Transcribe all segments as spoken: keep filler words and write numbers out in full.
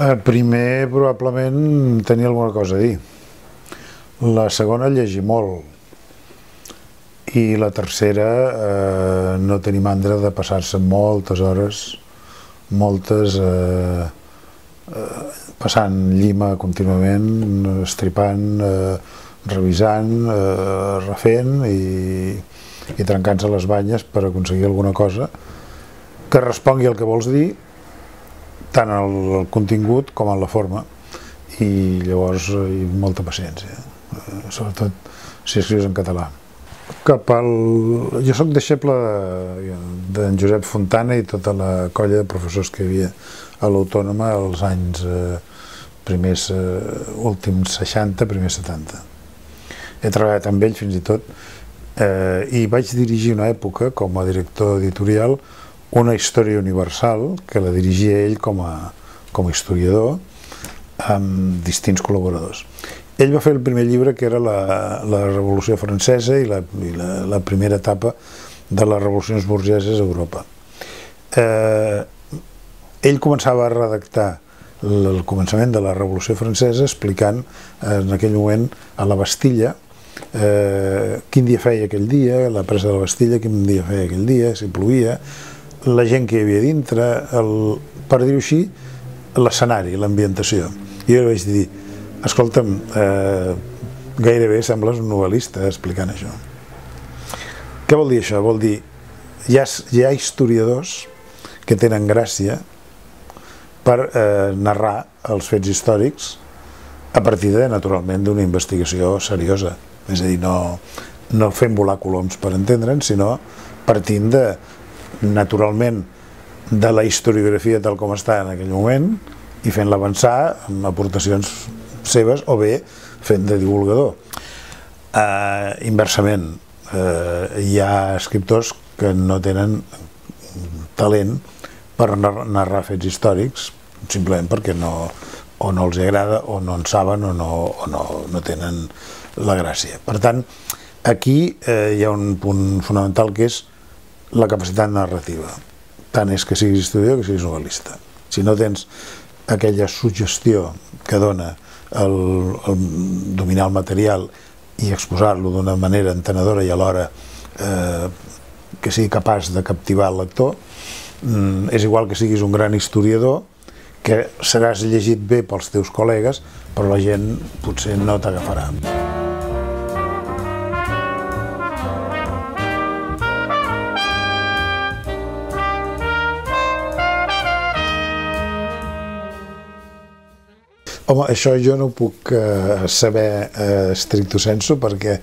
Primer, probablement, tenia alguna cosa a dir. La segona, llegir molt. I la tercera, eh, no tenir mandra de passar-se moltes hores, moltes, eh, eh, passant llima contínuament, estripant, eh, revisant, eh, refent i, i trencant-se les banyes per aconseguir alguna cosa que respongui al que vols dir, tant al, al contingut com a la forma, i llavors hi ha molta paciència, eh, sobretot si escrius en català. Cap al... Jo soc deixeble d'en Josep Fontana i tota la colla de professors que hi havia a l'Autònoma als anys eh, primers, eh, últims seixanta, primers setanta. He treballat amb ell fins i tot eh, i vaig dirigir una època com a director editorial una història universal que la dirigia ell com a, com a historiador amb distints col·laboradors. Ell va fer el primer llibre, que era la, la Revolució Francesa i, la, i la, la primera etapa de les revolucions burgeses a Europa. Eh, ell començava a redactar el començament de la Revolució Francesa explicant eh, en aquell moment a la Bastilla eh, quin dia feia aquell dia, la presa de la Bastilla, quin dia feia aquell dia, si plovia, la gent que hi havia dintre, el, per dir-ho així, l'escenari, l'ambientació. I jo vaig dir, escolta'm, eh, gairebé sembles un novel·lista explicant això. Què vol dir això? Vol dir, hi ha, hi ha historiadors que tenen gràcia per eh, narrar els fets històrics a partir de, naturalment, d'una investigació seriosa. És a dir, no, no fent volar coloms per entendre'n, sinó partint de, naturalment, de la historiografia tal com està en aquell moment i fent-la avançar amb aportacions seves o bé fent de divulgador. Eh, inversament, eh, hi ha escriptors que no tenen talent per narrar fets històrics simplement perquè no, o no els agrada o no en saben o no, o no, no tenen la gràcia. Per tant, aquí eh, hi ha un punt fonamental que és la capacitat narrativa. Tant és que siguis historiador que siguis novel·lista. Si no tens aquella suggestió que dona el, el dominar el material i exposar-lo d'una manera entenedora i alhora eh, que sigui capaç de captivar el lector, mm, és igual que siguis un gran historiador, que seràs llegit bé pels teus col·legues, però la gent potser no t'agafarà. Home, això jo no ho puc eh, saber eh, stricto sensu perquè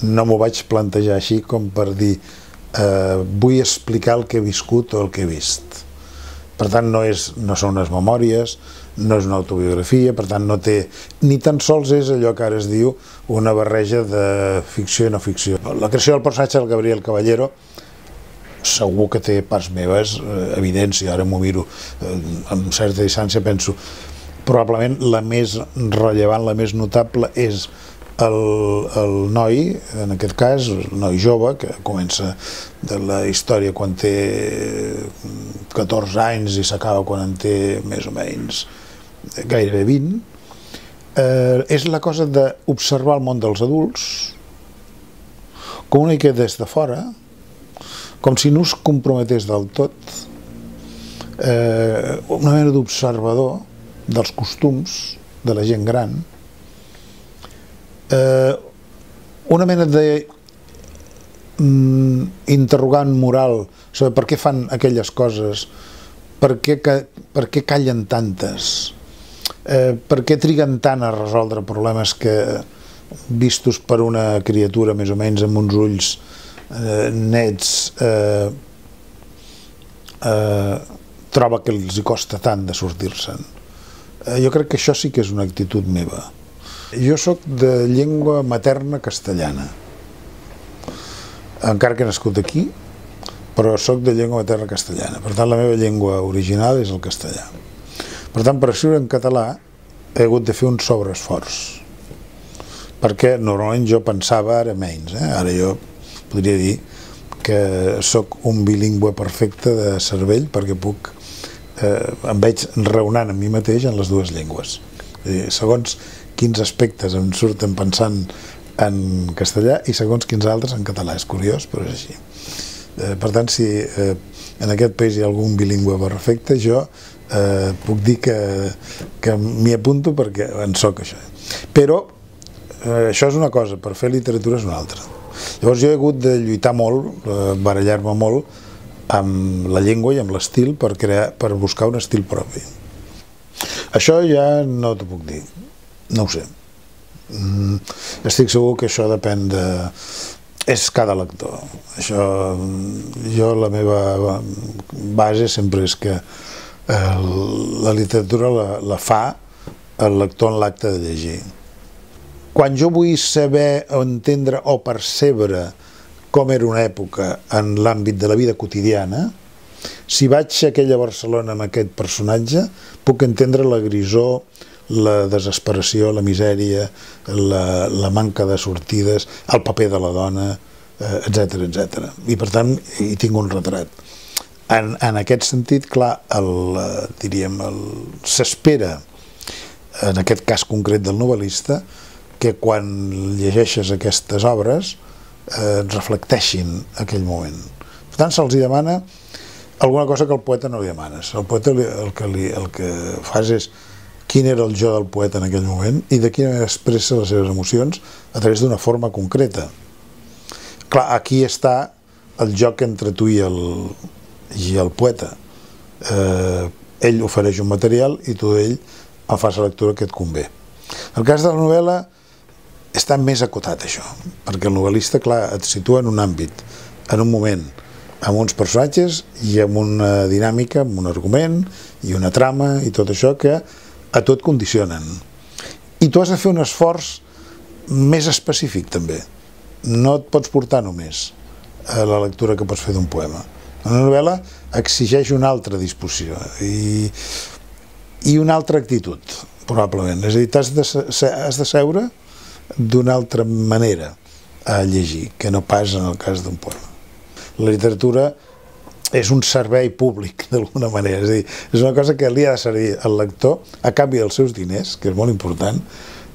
no m'ho vaig plantejar així com per dir eh, vull explicar el que he viscut o el que he vist. Per tant, no, és, no són unes memòries, no és una autobiografia, per tant, no té, ni tan sols és allò que ara es diu una barreja de ficció i no ficció. La creació del personatge del Gabriel Caballero segur que té parts meves, eh, evidents, i ara m'ho miro eh, amb certa distància, penso probablement la més rellevant, la més notable és el, el noi, en aquest cas, el noi jove, que comença de la història quan té catorze anys i s'acaba quan en té més o menys gairebé vint, eh, és la cosa d'observar el món dels adults com una mica des de fora, com si no es comprometés del tot, eh, una mena d'observador dels costums de la gent gran, eh, una mena de mm, interrogant moral sobre per què fan aquelles coses, per què, per què callen tantes, eh, per què triguen tant a resoldre problemes que, vistos per una criatura més o menys amb uns ulls eh, nets, eh, eh, troba que els hi costa tant de sortir-se'n. Jo crec que això sí que és una actitud meva. Jo soc de llengua materna castellana, encara que he nascut aquí, però soc de llengua materna castellana. Per tant, la meva llengua original és el castellà. Per tant, per escriure en català he hagut de fer un sobreesforç, perquè normalment jo pensava ara menys. Eh? Ara jo podria dir que soc un bilingüe perfecte de cervell perquè puc em veig raonant amb mi mateix en les dues llengües. Segons quins aspectes em surten pensant en castellà i segons quins altres en català. És curiós, però és així. Per tant, si en aquest país hi ha algun bilingüe perfecte, jo puc dir que m'hi apunto perquè en soc això. Però això és una cosa, per fer literatura és una altra. Llavors jo he hagut de lluitar molt, barallar-me molt amb la llengua i amb l'estil per crear, per buscar un estil propi. Això ja no t'ho puc dir, no ho sé. Estic segur que això depèn de... és cada lector. Això, jo la meva base sempre és que la literatura la fa el lector en l'acte de llegir. Quan jo vull saber o entendre o percebre com era una època en l'àmbit de la vida quotidiana, si vaig a aquella Barcelona amb aquest personatge, puc entendre la grisor, la desesperació, la misèria, la, la manca de sortides, el paper de la dona, etcètera, etcètera. I per tant, hi tinc un retrat. En, en aquest sentit, clar, el, diríem, s'espera, en aquest cas concret del novel·lista, que quan llegeixes aquestes obres eh, reflecteixin aquell moment. Per tant, se'ls demana alguna cosa que el poeta no li demanes. El poeta li, el, que li, el que fas és quin era el jo del poeta en aquell moment i de quina manera expressa les seves emocions a través d'una forma concreta. Clar, aquí està el joc entre tu i el, i el poeta. Eh, ell ofereix un material i tu d'ell en fas la lectura que et convé. En el cas de la novel·la està més acotat això, perquè el novel·lista, clar, et situa en un àmbit, en un moment, amb uns personatges i amb una dinàmica, amb un argument i una trama i tot això que a tu et condicionen. I tu has de fer un esforç més específic també. No et pots portar només a la lectura que pots fer d'un poema. Una novel·la exigeix una altra disposició i, i una altra actitud, probablement. És a dir, has de, has de seure d'una altra manera a llegir, que no pas en el cas d'un poema. La literatura és un servei públic, d'alguna manera, és a dir, és una cosa que li ha de servir al lector a canvi dels seus diners, que és molt important,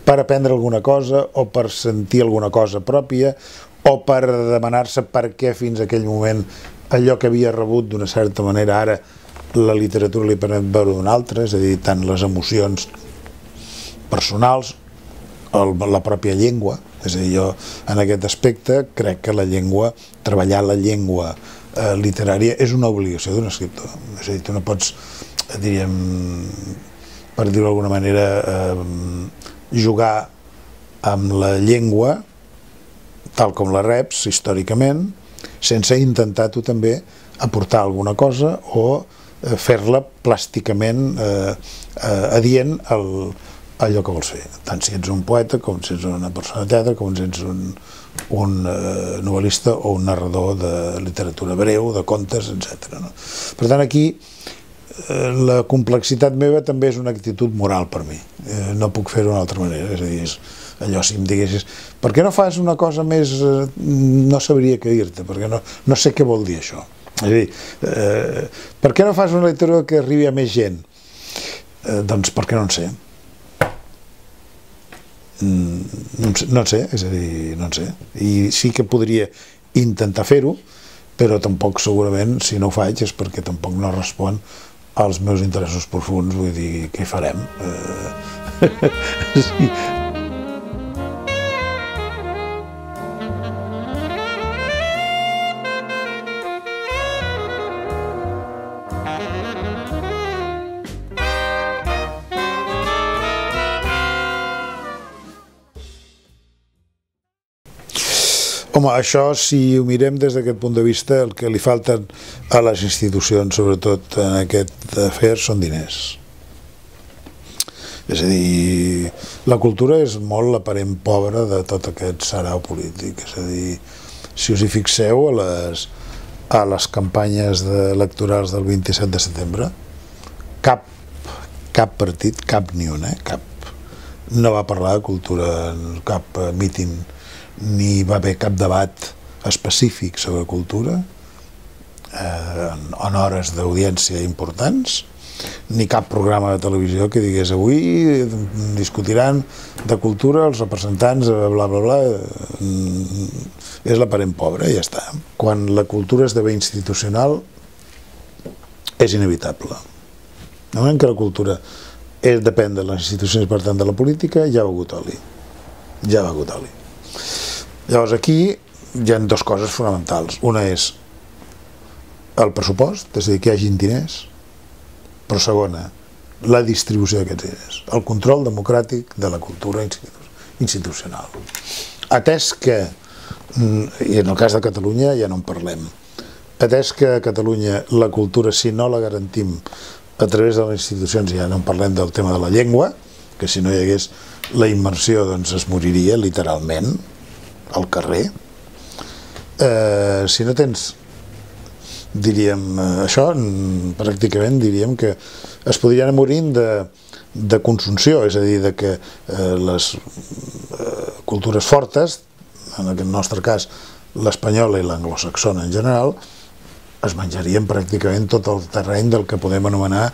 per aprendre alguna cosa o per sentir alguna cosa pròpia o per demanar-se per què fins a aquell moment allò que havia rebut d'una certa manera ara la literatura li permet veure d'una altra, és a dir, tant les emocions personals la pròpia llengua, és a dir, jo en aquest aspecte crec que la llengua, treballar la llengua eh, literària és una obligació d'un escriptor, és a dir, tu no pots, diríem, per dir-ho d'alguna manera, eh, jugar amb la llengua tal com la reps històricament, sense intentar tu també aportar alguna cosa o eh, fer-la plàsticament eh, eh, adient al allò que vols fer, tant si ets un poeta com si ets una persona de teatre, com si ets un, un uh, novel·lista o un narrador de literatura breu, de contes, etcètera. No? Per tant, aquí eh, la complexitat meva també és una actitud moral per mi, eh, no puc fer-ho d'una altra manera, és a dir, és allò, si em diguessis, per què no fas una cosa més, eh, no sabria què dir-te, perquè no, no sé què vol dir això. És a dir, eh, per què no fas una literatura que arribi a més gent? Eh, doncs perquè no en sé. No en sé, és a dir, no en sé. I sí que podria intentar fer-ho, però tampoc segurament, si no ho faig, és perquè tampoc no respon als meus interessos profuns, vull dir, què hi farem? Sí. Home, això, si ho mirem des d'aquest punt de vista, el que li falten a les institucions, sobretot en aquest afer, són diners. És a dir, la cultura és molt l'aparent pobre de tot aquest sarau polític. És a dir, si us hi fixeu, a les, a les campanyes electorals del vint-i-set de setembre, cap, cap partit, cap ni un, eh, cap, no va parlar de cultura en cap míting, ni va haver cap debat específic sobre cultura eh, en hores d'audiència importants, ni cap programa de televisió que digués avui discutiran de cultura els representants bla bla bla, és l'aparent pobre i ja està. Quan la cultura esdevé institucional és inevitable. En el moment que la cultura és, depèn de les institucions, per tant de la política, ja ha begut oli. Ja ha begut oli. Llavors aquí hi ha dues coses fonamentals. Una és el pressupost, és a dir, que hi hagin diners, però segona, la distribució d'aquests diners, el control democràtic de la cultura institucional. Atès que, i en el cas de Catalunya ja no en parlem, atès que a Catalunya la cultura, si no la garantim a través de les institucions, ja no en parlem del tema de la llengua, que si no hi hagués la immersió doncs es moriria literalment al carrer. Eh, si no tens, diríem, això, pràcticament diríem que es podria anar morint de, de consunció, és a dir, de que eh, les eh, cultures fortes, en aquest nostre cas l'espanyola i l'anglosaxona en general, es menjarien pràcticament tot el terreny del que podem anomenar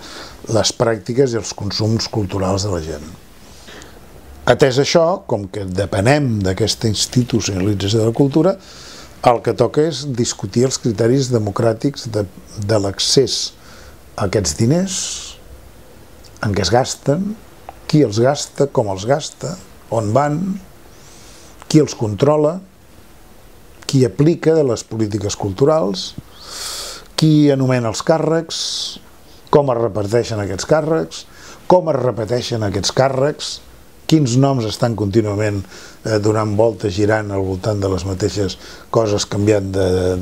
les pràctiques i els consums culturals de la gent. Atès això, com que depenem d'aquesta institucionalització de la cultura, el que toca és discutir els criteris democràtics de, de l'accés a aquests diners, en què es gasten, qui els gasta, com els gasta, on van, qui els controla, qui aplica de les polítiques culturals, qui anomena els càrrecs, com es reparteixen aquests càrrecs, com es repeteixen aquests càrrecs, quins noms estan contínuament eh, donant voltes, girant al voltant de les mateixes coses, canviant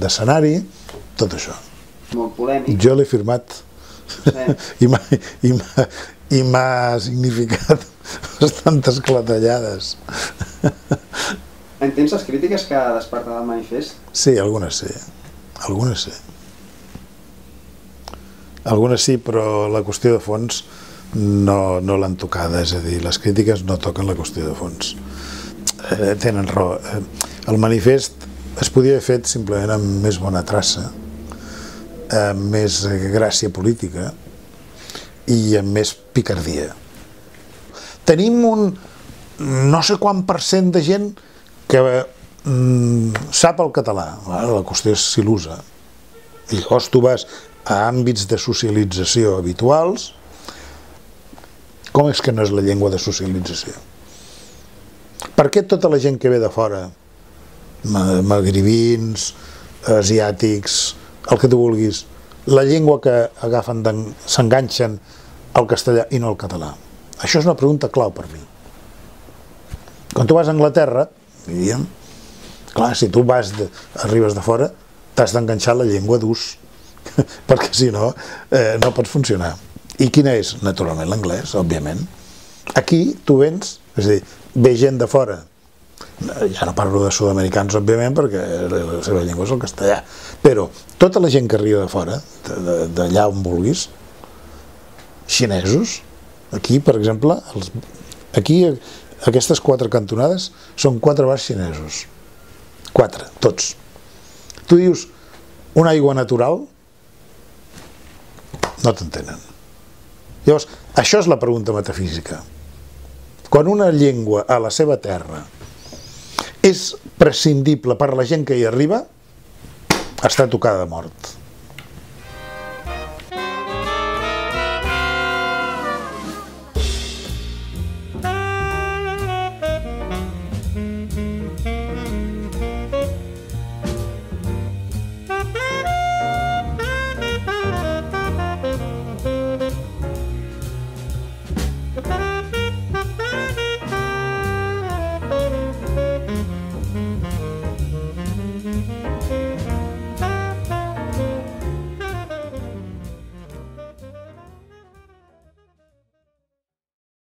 d'escenari, de, tot això. Molt polèmic. Jo l'he firmat sí. i m'ha significat bastantes clatellades. Entens les crítiques que ha despertat el manifest? Sí, algunes sí. Algunes sí. Algunes sí, però la qüestió de fons no, no l'han tocada, és a dir, les crítiques no toquen la qüestió de fons. Eh, tenen raó. Eh, el manifest es podia haver fet simplement amb més bona traça, amb més gràcia política i amb més picardia. Tenim un no sé quant per cent de gent que mm, sap el català. La qüestió és si l'usa. I llavors tu vas a àmbits de socialització habituals. Com és que no és la llengua de socialització? Per què tota la gent que ve de fora, magribins, asiàtics, el que tu vulguis, la llengua que agafen s'enganxen al castellà i no al català? Això és una pregunta clau per mi. Quan tu vas a Anglaterra, diríem, clar, si tu vas de, arribes de fora, t'has d'enganxar la llengua d'ús, perquè si no, eh, no pots funcionar. I quina és? Naturalment l'anglès, òbviament. Aquí tu vens, és a dir, ve gent de fora, ja no parlo de sud-americans, òbviament, perquè la seva llengua és el castellà, però tota la gent que arriba de fora, d'allà on vulguis, xinesos, aquí, per exemple, els, aquí aquestes quatre cantonades són quatre bars xinesos. Quatre, tots. Tu dius una aigua natural, no t'entenen. Llavors, això és la pregunta metafísica. Quan una llengua a la seva terra és prescindible per a la gent que hi arriba, està tocada de mort.